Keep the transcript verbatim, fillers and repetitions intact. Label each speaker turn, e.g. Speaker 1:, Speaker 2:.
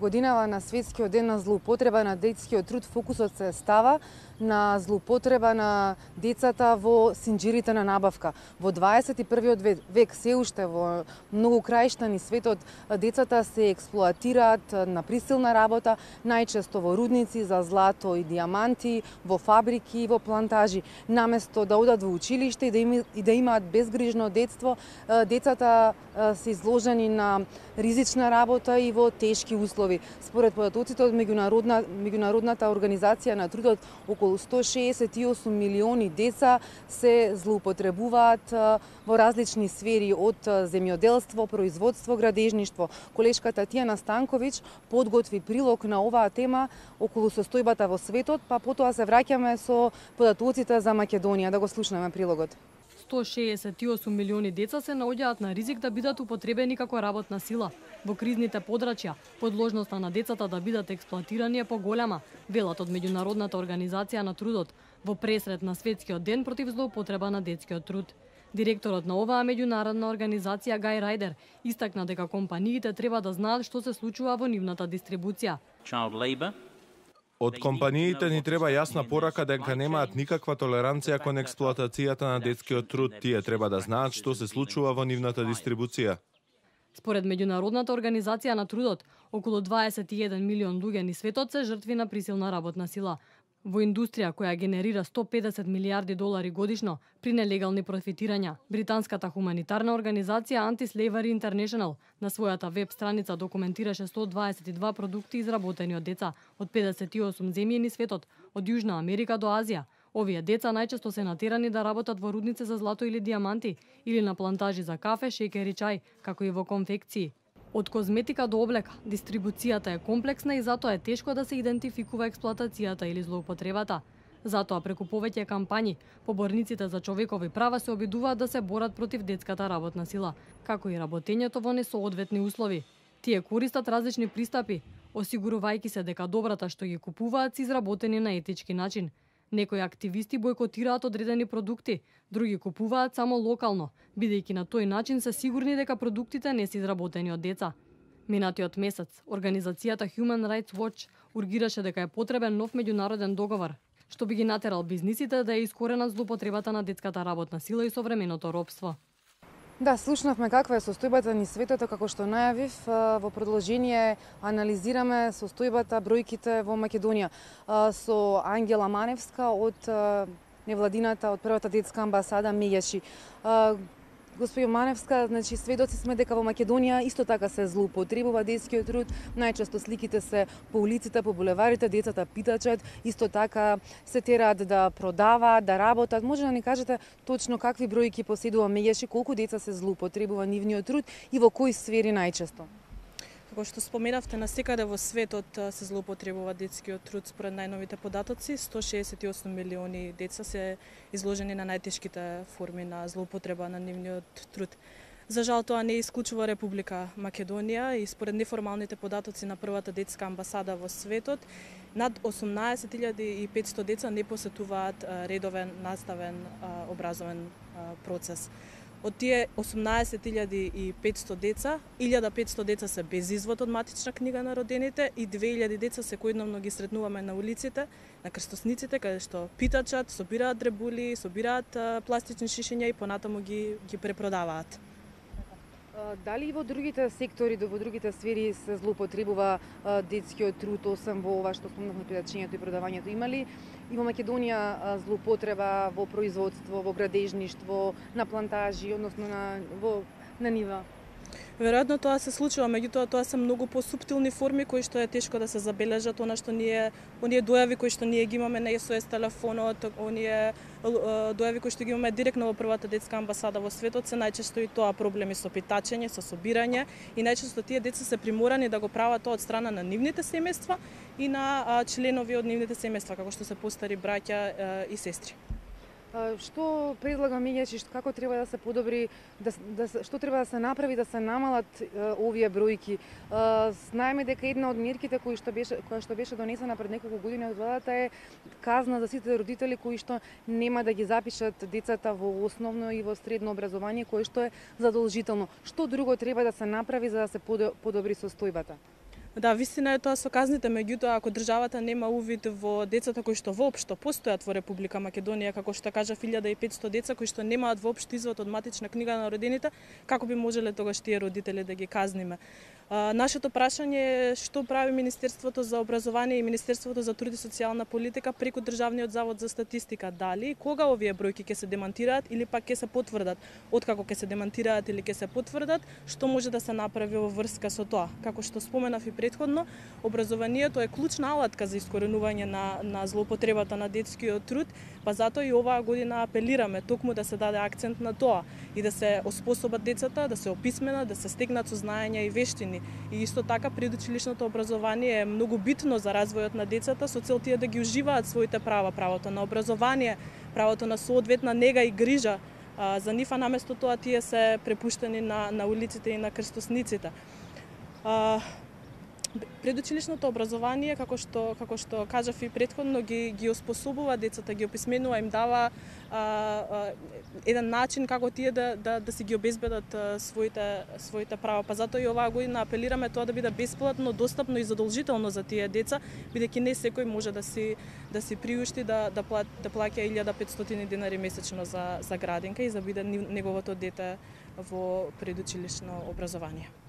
Speaker 1: годинава на Светскиот ден на злоупотреба на детскиот труд, фокусот се става на злоупотреба на децата во синџирите на набавка. Во дваесет и првиот век, се уште во многу краишта ни светот, децата се експлоатираат на присилна работа, најчесто во рудници за злато и диаманти, во фабрики и во плантажи. Наместо да одат во училиште и да, им, и да имаат безгрижно детство, децата се изложени на ризична работа и во тешки услови. Според податоците од меѓународна, меѓународната организација на трудот, околу сто шеесет и осум милиони деца се злоупотребуваат во различни сфери, од земјоделство, производство, градежништво. Колешката Тијана Станковиќ подготви прилог на оваа тема околу состојбата во светот, па потоа се враќаме со податоците за Македонија. Да го слушнеме прилогот.
Speaker 2: сто шеесет и осум милиони деца се наоѓаат на ризик да бидат употребени како работна сила. Во кризните подрачја, подложноста на децата да бидат експлоатирани е поголема, велат од Меѓународната организација на трудот, во пресрет на Светскиот ден против злоупотреба на детскиот труд. Директорот на оваа меѓународна организација Гај Рајдер истакна дека компаниите треба да знаат што се случува во нивната дистрибуција.
Speaker 3: Од компаниите ни треба јасна порака дека немаат никаква толеранција кон експлоатацијата на детскиот труд. Тие треба да знаат што се случува во нивната дистрибуција.
Speaker 2: Според Меѓународната организација на трудот, околу дваесет и еден милион луѓе ни светот се жртви на присилна работна сила. Во индустрија која генерира сто педесет милијарди долари годишно при нелегални профитирања, британската хуманитарна организација Anti-Slavery International на својата веб страница документираше сто дваесет и два продукти изработени од деца од педесет и осум земји низ светот, од Јужна Америка до Азија. Овие деца најчесто се натерани да работат во рудници за злато или диаманти, или на плантажи за кафе, шеќер и чај, како и во конфекции. Од козметика до облека, дистрибуцијата е комплексна и затоа е тешко да се идентификува експлоатацијата или злоупотребата. Затоа преку повеќе кампањи, поборниците за човекови права се обидуваат да се борат против детската работна сила, како и работењето во несоодветни услови. Тие користат различни пристапи, осигурувајќи се дека добрата што ги купуваат се изработени на етички начин. Некои активисти бойкотираат одредени продукти, други купуваат само локално, бидејќи на тој начин се сигурни дека продуктите не се изработени од деца. Минатиот месец, организацијата Human Rights Watch ургираше дека е потребен нов меѓународен договор, што би ги натерал бизнисите да ја искоренат злоупотребата на детската работна сила и современото робство.
Speaker 1: Да, слушнавме каква е состојбата ни светот, како што најавив, во продолжение анализираме состојбата, бројките во Македонија со Ангела Маневска од невладината, од првата детска амбасада Меѓаши. Господјо Маневска, значи сведоци сме дека во Македонија исто така се злоупотребува детскиот труд. Најчесто сликите се по улиците, по булеварите, децата питачат, исто така се тераат да продаваат, да работат. Може да ни кажете точно какви бројки поседува Меѓаши, колку деца се злоупотребува нивниот труд и во кои сфери најчесто?
Speaker 4: Како што споменавте, насекаде во светот се злоупотребува детскиот труд според најновите податоци. сто шеесет и осум милиони деца се изложени на најтешките форми на злоупотреба на нивниот труд. За жал тоа не исклучува Република Македонија и според неформалните податоци на првата детска амбасада во светот, над осумнаесет илјади и петсто деца не посетуваат редовен наставен образовен процес. Од тие осумнаесет илјади и петсто деца, илјада и петсто деца се без извод од матична книга на родените и две илјади деца секојдневно ги сретнуваме на улиците, на крстосниците, каде што питачат, собираат дребули, собираат пластични шишиња и понатаму ги ги препродаваат.
Speaker 1: Дали и во другите сектори, во другите сфери се злоупотребува детскиот труд, освен во ова што спомнавме питачењето и продавањето? Има ли и во Македонија злоупотреба во производство, во градежништво, на плантажи, односно на во на нива?
Speaker 4: Веројатно тоа се случува, меѓутоа тоа се многу посуптилни форми кои што е тешко да се забележат, она што ние оние дојави кои што ние ги имаме на ес о ес телефонот, оние дојави кои што ги имаме директно во првата детска амбасада во светот, се најчесто и тоа проблеми со питачење, со собирање и најчесто тие деца се приморани да го прават тоа од страна на нивните семејства и на членови од нивните семејства, како што се постари браќа и сестри.
Speaker 1: Што предлага Меѓаши, како треба да се подобри, да, да, што треба да се направи да се намалат е, овие бројки? Знаеме дека една од мерките кои што беше, која што беше донесена пред неколку години од владата е казна за сите родители кои што нема да ги запишат децата во основно и во средно образование, кое што е задолжително. Што друго треба да се направи за да се подобри состојбата?
Speaker 4: Да, вистина е тоа со казните, меѓутоа ако државата нема увид во децата кои што воопшто постојат во Република Македонија, како што кажав илјада и петсто деца кои што немаат воопшто извод од матична книга на родините, како би можеле тогаш тие родители да ги казниме? А, нашето прашање е што прави Министерството за образование и Министерството за труд и социјална политика преку Државниот завод за статистика, дали и кога овие бројки ќе се демантираат или пак ќе се потврдат? Откако ќе се демантираат или ќе се потврдат, што може да се направи во врска со тоа? Како што споменав и предходно, образованието е клучна алатка за искоренување на, на злоупотребата на детскиот труд, па затоа и оваа година апелираме токму да се даде акцент на тоа и да се оспособат децата, да се описменат, да се стекнат со знаења и вештини. И исто така предучилишното образование е многу битно за развојот на децата со цел тие да ги уживаат своите права, правото на образование, правото на соодветна нега и грижа а, за нив, а наместо тоа тие се препуштени на, на улиците и на крстосниците. А, Предучилишното образование, како што како што кажав и претходно, ги ги оспособува децата, ги описменува, им дава а, а, еден начин како тие да да да си ги обезбедат а, своите своите права. Па затоа и оваа година апелираме тоа да биде бесплатно, достапно и задолжително за тие деца, бидејќи не секој може да си да си приушти да да плати да плаќа илјада и петстотини денари месечно за за градинка и за биде неговото дете во предучилишно образование.